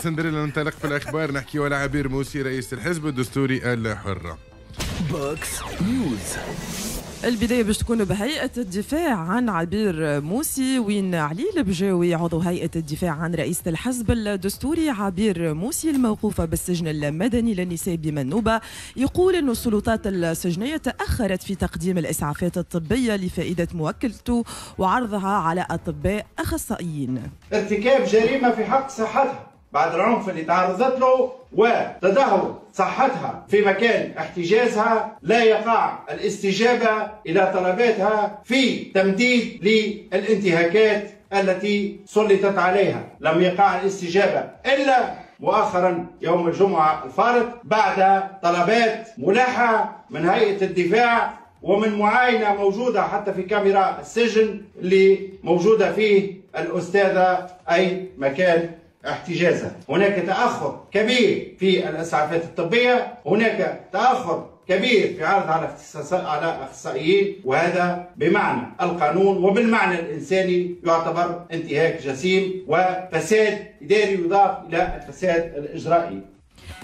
سندريلا ننطلق في الاخبار، نحكي على عبير موسي رئيس الحزب الدستوري الحر. Box News. البداية باش تكون بهيئة الدفاع عن عبير موسي، وين علي البجاوي عضو هيئة الدفاع عن رئيسة الحزب الدستوري عبير موسي الموقوفة بالسجن المدني للنساء بمنوبة يقول أن السلطات السجنية تأخرت في تقديم الإسعافات الطبية لفائدة موكلته وعرضها على أطباء أخصائيين. ارتكاب جريمة في حق صحتها بعد العنف اللي تعرضت له وتدهور صحتها في مكان احتجازها، لا يقع الاستجابة إلى طلباتها في تمديد للانتهاكات التي سلطت عليها. لم يقع الاستجابة إلا مؤخرا يوم الجمعة الفارط بعد طلبات ملحة من هيئة الدفاع ومن معاينة موجودة حتى في كاميرا السجن اللي موجودة فيه الأستاذة أي مكان احتجازها. هناك تأخر كبير في الإسعافات الطبية، هناك تأخر كبير في عرض على أخصائيين، وهذا بمعنى القانون وبالمعنى الإنساني يعتبر انتهاك جسيم وفساد إداري يضاف إلى الفساد الإجرائي.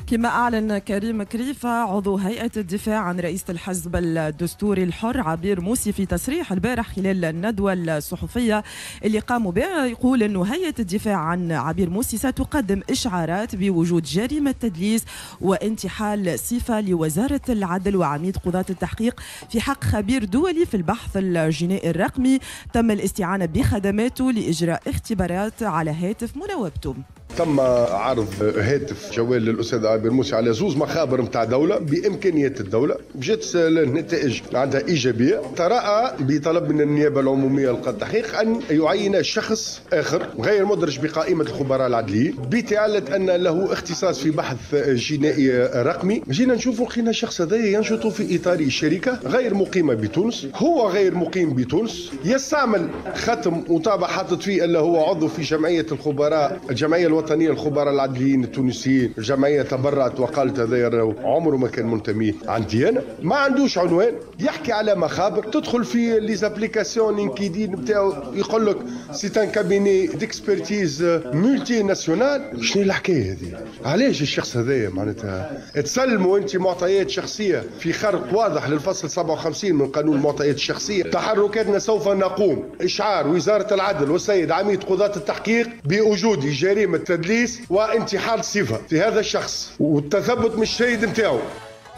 كما أعلن كريم كريفة عضو هيئة الدفاع عن رئيسة الحزب الدستوري الحر عبير موسي في تصريح البارح خلال الندوة الصحفية اللي قاموا بها، يقول أنه هيئة الدفاع عن عبير موسي ستقدم إشعارات بوجود جريمة تدليس وانتحال صفة لوزارة العدل وعميد قضاة التحقيق في حق خبير دولي في البحث الجنائي الرقمي تم الاستعانة بخدماته لإجراء اختبارات على هاتف مناوبته. تم عرض هاتف جوال للأستاذ عبير موسي على زوز مخابر نتاع دولة بإمكانيات الدولة، جات النتائج عندها إيجابية. تراءى بطلب من النيابة العمومية لقضاء التحقيق أن يعين شخص آخر غير مدرج بقائمة الخبراء العدليين بتعلة أن له اختصاص في بحث جنائي رقمي. جينا نشوفوا لقينا الشخص هذا ينشط في إطار شركة غير مقيمة بتونس، هو غير مقيم بتونس، يستعمل ختم وطابع حاطط فيه أنه هو عضو في جمعية الخبراء، الجمعية الوطنية الخبراء العدليين التونسيين. الجمعية تبرعت وقالت هذا عمره ما كان منتمي عندي أنا، ما عندوش عنوان، يحكي على مخابر، تدخل في les applications LinkedIn نتاعو يقول لك c'est un cabinet d'expertise multinational. شنو الحكاية هذه؟ علاش الشخص هذايا معناتها تسلموا انت معطيات شخصية في خرق واضح للفصل 57 من قانون المعطيات الشخصية؟ تحركاتنا سوف نقوم اشعار وزارة العدل والسيد عميد قضاة التحقيق بوجود جريمة تدليس وانتحال صفة في هذا الشخص والتثبت من الشهيد نتاعو.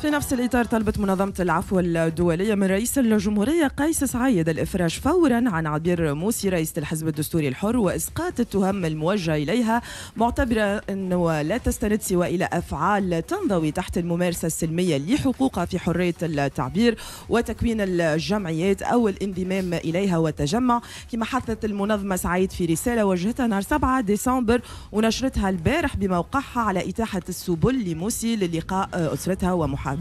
في نفس الإطار طلبت منظمة العفو الدولية من رئيس الجمهورية قيس سعيد الإفراج فورا عن عبير موسي رئيسة الحزب الدستوري الحر وإسقاط التهم الموجهة إليها، معتبرة أنه لا تستند سوى إلى أفعال تنضوي تحت الممارسة السلمية لحقوقها في حرية التعبير وتكوين الجمعيات أو الانضمام إليها والتجمع. كما حثت المنظمة سعيد في رسالة وجهتها نهار 7 ديسمبر ونشرتها البارح بموقعها على إتاحة السبل لموسي للقاء أسرتها ومحاميها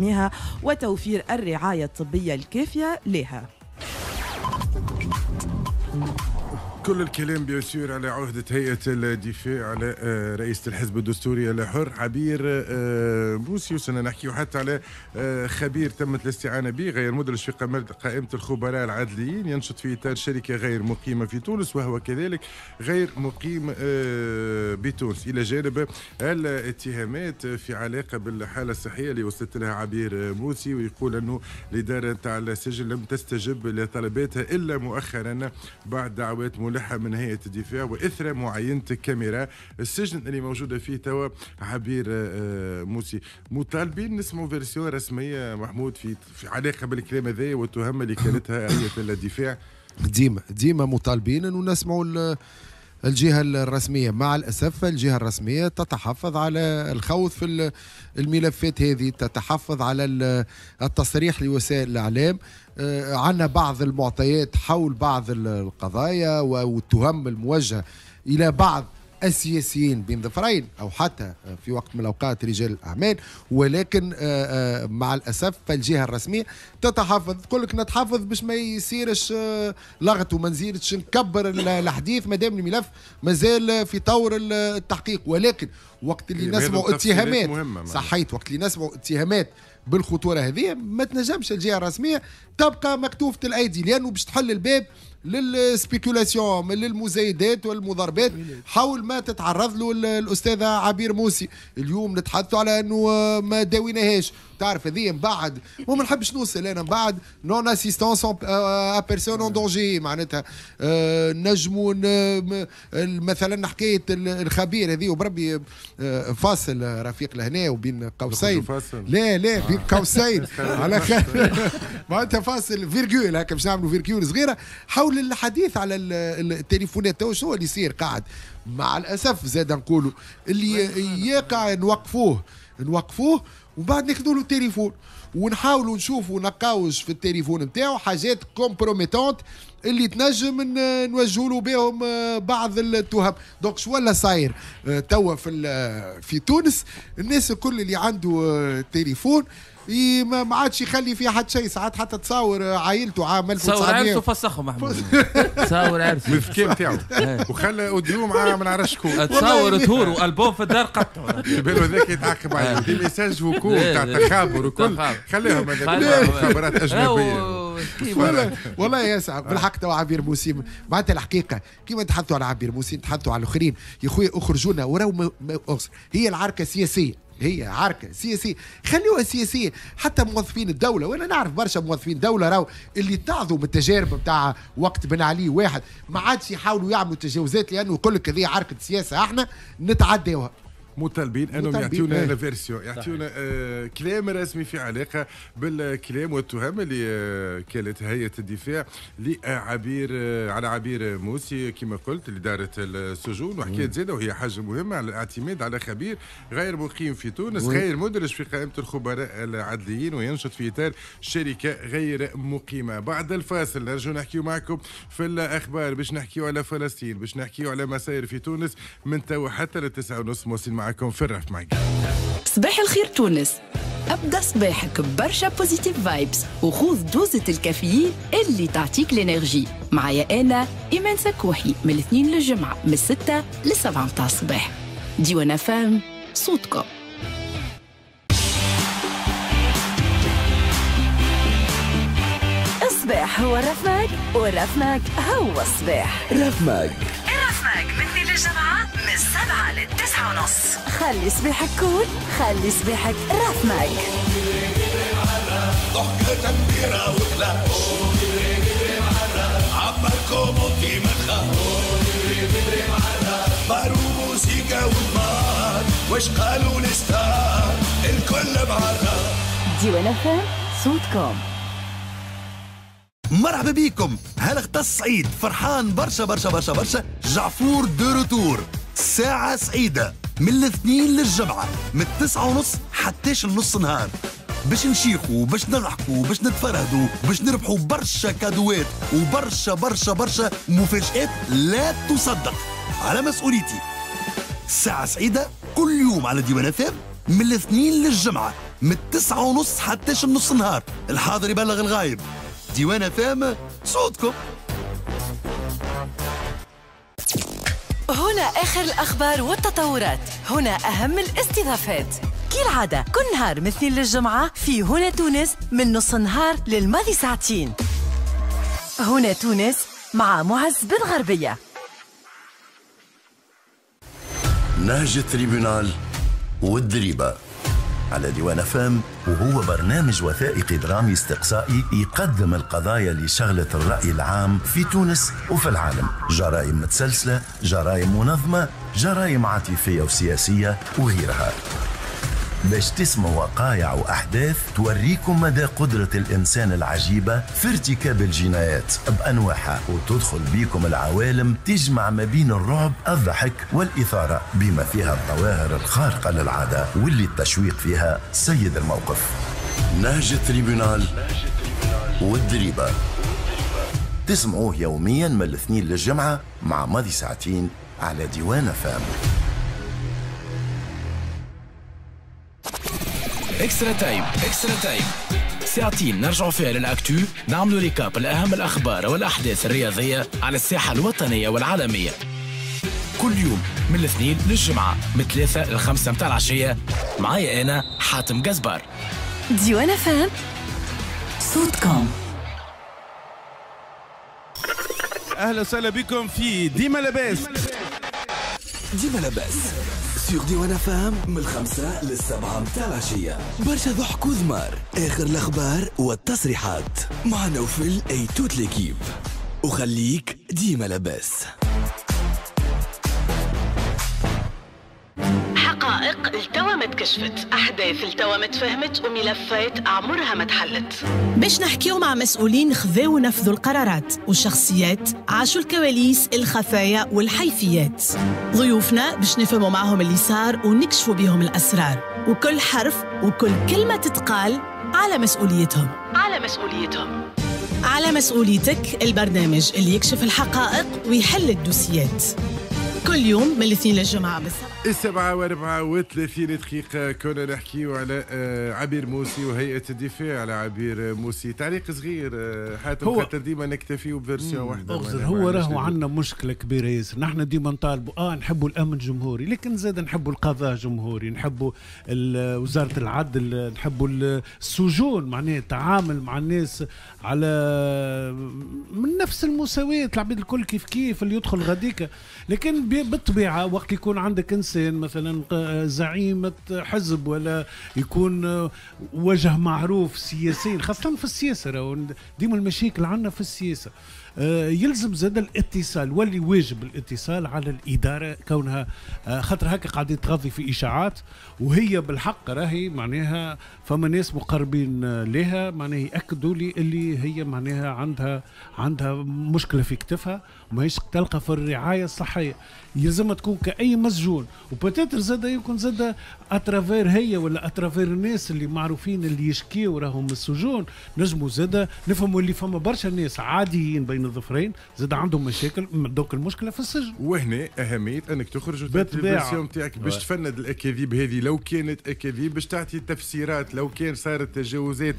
وتوفير الرعاية الطبية الكافية لها. كل الكلام bien sûr على عهدة هيئة الدفاع على رئيسة الحزب الدستوري الحر عبير موسي، وسنا نحكي حتى على خبير تمت الاستعانة به غير مدرج في قائمة الخبراء العدليين، ينشط في إطار شركة غير مقيمة في تونس وهو كذلك غير مقيم بتونس. إلى جانب الاتهامات في علاقة بالحالة الصحية اللي وصلت لها عبير موسي، ويقول أنه الإدارة تاع السجن لم تستجب لطلباتها إلا مؤخرا بعد دعوات ملحة من هيئة الدفاع وإثر معاينة كاميرا السجن اللي موجودة فيه توا عبير موسي. مطالبين نسمعوا version رسمية محمود في علاقة بالكلام هذا والتهم اللي كانتها هيئة الدفاع. ديما مطالبين انه نسمعوا الجهة الرسمية. مع الأسف الجهة الرسمية تتحفظ على الخوض في الملفات هذه، تتحفظ على التصريح لوسائل الإعلام. عندنا بعض المعطيات حول بعض القضايا والتهم الموجهة إلى بعض السياسيين بين ظفرين أو حتى في وقت من الأوقات رجال الأعمال، ولكن مع الأسف فالجهة الرسمية تتحفظ، تقول لك نتحفظ باش ما يصيرش لغط وما نزيدش نكبر الحديث ما دام الملف مازال في طور التحقيق. ولكن وقت اللي نسمعوا اتهامات، صحيت، وقت اللي نسمعوا اتهامات بالخطورة هذه ما تنجمش الجهة الرسمية تبقى مكتوفة الأيدي، لأنه باش تحل الباب لل spéculation، للمزايدات والمضاربات حول ما تتعرض له الاستاذة عبير موسي. اليوم نتحدثوا على انه ما داويناهاش، تعرف هذه من بعد وما نحبش نوصل انا من بعد non assistance à personne en danger، معناتها نجموا مثلا حكاية الخبير هذه، وبربي فاصل رفيق لهنا وبين قوسين، لا لا بين قوسين على خير معناتها فاصل virgule هكا باش نعملوا virgule صغيرة حول الحديث على التليفونات. تو شنو اللي يصير قاعد مع الاسف زاد نقولوا اللي يقع نوقفوه وبعد ناخذوا له التليفون ونحاولوا نشوفوا نقاوش في التليفون نتاعو حاجات compromettantes اللي تنجم نوجهوا له بهم بعض التهم. donc شو ولا صاير توا في تونس؟ الناس الكل اللي عنده تليفون ما عادش يخلي فيه حتى شيء، ساعات حتى تصور عائلته عام 1900 تصور عرسه فسخه محمود، تصور عرسه من الذكاء نتاعو وخلى audio مع ما نعرفش شكون، تصور طهور والبوم في الدار قطعه في باله هذاك يتعاقب عليه، des messages vocaux تاع تخابر وكل خليهم هذاك مخابرات اجنبية. والله يا سعد بالحق تو عبير موسي معناتها الحقيقة كيما نتحدثوا على عبير موسي نتحدثوا على الاخرين يا خويا اخرجونا وراو هي العركه سياسية، هي عركة سياسية خلوها سياسية. حتى موظفين الدولة، وانا نعرف برشا موظفين دولة راهو اللي تعظوا من التجارب نتاع وقت بن علي واحد ما عادش يحاولوا يعملوا تجاوزات لانه يقول لك هذه عركة سياسة احنا نتعداوها. مطالبين انهم يعطيونا la version، يعطيونا كلام رسمي في علاقة بالكلام والتهم اللي كانت هيئة الدفاع لعبير على عبير موسي كما قلت اللي دارت السجون، وحكيت زاده وهي حاجة مهمة على الاعتماد على خبير غير مقيم في تونس، غير مدرج في قائمة الخبراء العدليين وينشط في اطار شركة غير مقيمة. بعد الفاصل نرجو نحكيو معكم في الاخبار باش نحكيو على فلسطين، باش نحكيو على مسائل في تونس من تو حتى للتسعة ونص. مواصلين معكم في الرف معك. صباح الخير تونس، ابدا صباحك برشا positive vibes وخوذ دوزة الكافيين اللي تعطيك l'énergie. معايا انا ايمان سكوحي من الاثنين للجمعة من 6 ل 7 متاع الصباح. ديوان فام صوتكم. الصباح هو الرفماك والرفماك هو الصباح. رفماك الرفماك من اثنين للجمعة من 7 ل 9:30. خلي صباحك cool، خلي صباحك رفماك. ضحكة كبيرة وكلاش عبركم وطي ما تخاف، موسيقى والنار واش قالوا ال stars الكل معرف. ديوان فام صوتكم. مرحبا بيكم. هل اختص سعيد فرحان برشا برشا برشا برشا. جعفور de retour، ساعة سعيدة من الاثنين للجمعة من 9:30 حتى النص نهار، باش نشيخوا باش نضحكوا باش نتفرهدوا باش نربحوا برشا كادوات وبرشا برشا برشا مفاجآت لا تصدق. على مسؤوليتي ساعة سعيدة كل يوم على ديوان فام من الاثنين للجمعة من 9:30 حتى النص نهار. الحاضر يبلغ الغايب. ديوان فام صوتكم. هنا آخر الأخبار والتطورات، هنا أهم الاستضافات كالعادة كل نهار من اثنين للجمعة في هنا تونس من نص النهار للماضي ساعتين. هنا تونس مع معز بن غربية. نهج ال tribunal والدريبة على ديوان فام، وهو برنامج وثائقي درامي استقصائي يقدم القضايا اللي شغلت الرأي العام في تونس وفي العالم. جرائم متسلسلة، جرائم منظمة، جرائم عاطفية وسياسية وغيرها، باش تسمعوا وقايع وأحداث توريكم مدى قدرة الإنسان العجيبة في ارتكاب الجنايات بأنواعها، وتدخل بيكم العوالم تجمع ما بين الرعب، الضحك والإثارة، بما فيها الظواهر الخارقة للعادة واللي التشويق فيها سيد الموقف. نهج ال tribunal والدريبة تسمعوه يوميا من الاثنين للجمعة مع ماضي ساعتين على ديوان فام. extra time، extra time ساعتين نرجعوا فيها لل actu، نعملوا récap لأهم الأخبار والأحداث الرياضية على الساحة الوطنية والعالمية. كل يوم من الاثنين للجمعة من 3 ل 5 متاع العشية، معايا أنا حاتم قزبار. ديوان فام صوتكم. اهلا وسهلا بكم في ديما لاباس. ديما لاباس sur ديوان FM من 5 لل7 متاع العشية، برشا ضحك وذمار، اخر الاخبار والتصريحات مع نوفل et toute l'équipe، وخليك ديما لاباس. حقائق التوا ما تكشفت، أحداث التوا ما تفهمت، وملفات عمرها ما تحلت. باش نحكيو مع مسؤولين خذاو ونفذوا القرارات، والشخصيات عاشوا الكواليس، الخفايا والحيثيات. ضيوفنا باش نفهموا معهم اللي صار ونكشفوا بهم الأسرار، وكل حرف وكل كلمة تتقال على مسؤوليتهم. على مسؤوليتهم. على مسؤوليتك، البرنامج اللي يكشف الحقائق ويحل الدوسيات. كل يوم من الاثنين للجمعة بالسبعة. 7:34 كنا نحكيو على عبير موسي وهيئة الدفاع على عبير موسي. تعليق صغير حاتم، خاطر ديما نكتفيو ب version واحدة. هو راهو عندنا مشكلة كبيرة ياسر، نحن ديما نطالبوا نحبوا الأمن جمهوري، لكن زاد نحبوا القضاء جمهوري، نحبوا وزارة العدل، نحبوا السجون، معناها التعامل مع الناس على من نفس المساواة، العباد الكل كيف كيف اللي يدخل غاديك. لكن بالطبيعة وقت يكون عندك إنسان مثلا زعيمة حزب ولا يكون وجه معروف سياسيا، خاصة في السياسة ديما المشاكل عندنا في السياسة، يلزم زاد الاتصال، واللي واجب الاتصال على الإدارة كونها خاطر هكا قاعدين تغذي في إشاعات، وهي بالحق راهي معناها فما ناس مقربين لها معناها يأكدوا لي اللي هي معناها عندها مشكلة في كتفها وماهيش تلقى في الرعاية الصحية. يلزمها تكون كأي مسجون، و peut-être زاد يكون زاد à travers هي ولا à travers الناس اللي معروفين اللي يشكيو راهم من السجون، نجموا زاد نفهموا اللي فما برشا ناس عاديين بين الظفرين زاد عندهم مشاكل، donc المشكلة في السجن. وهنا اهمية انك تخرج وتعطي ال version نتاعك باش تفند الاكاذيب هذه لو كانت اكاذيب، باش تعطي تفسيرات لو كان صارت تجاوزات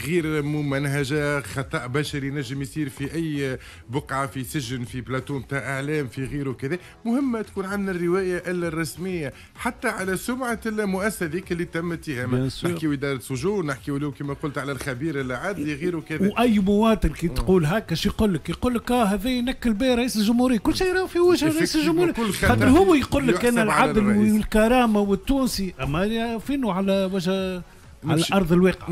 غير ممنهجه، خطا بشري نجم يصير في اي بقعة، في سجن، في بلاتو نتاع اعلام، في غيره كذا. مهمة تكون عندنا الرواية الرسمية حتى على سمعه المؤسسة ذيك اللي تم اتهامها. نحكيو ادارة سجون، نحكيو لو كما قلت على الخبير العدلي غيره كذا. واي مواطن كي تقول هكا شو يقول لك؟ يقول لك هذا ينكل به رئيس الجمهورية، كل شيء راهو في وجه رئيس الجمهورية، خاطر هو يقول لك انا العدل والكرامة والتونسي، اما فينو على وجه على ارض الواقع.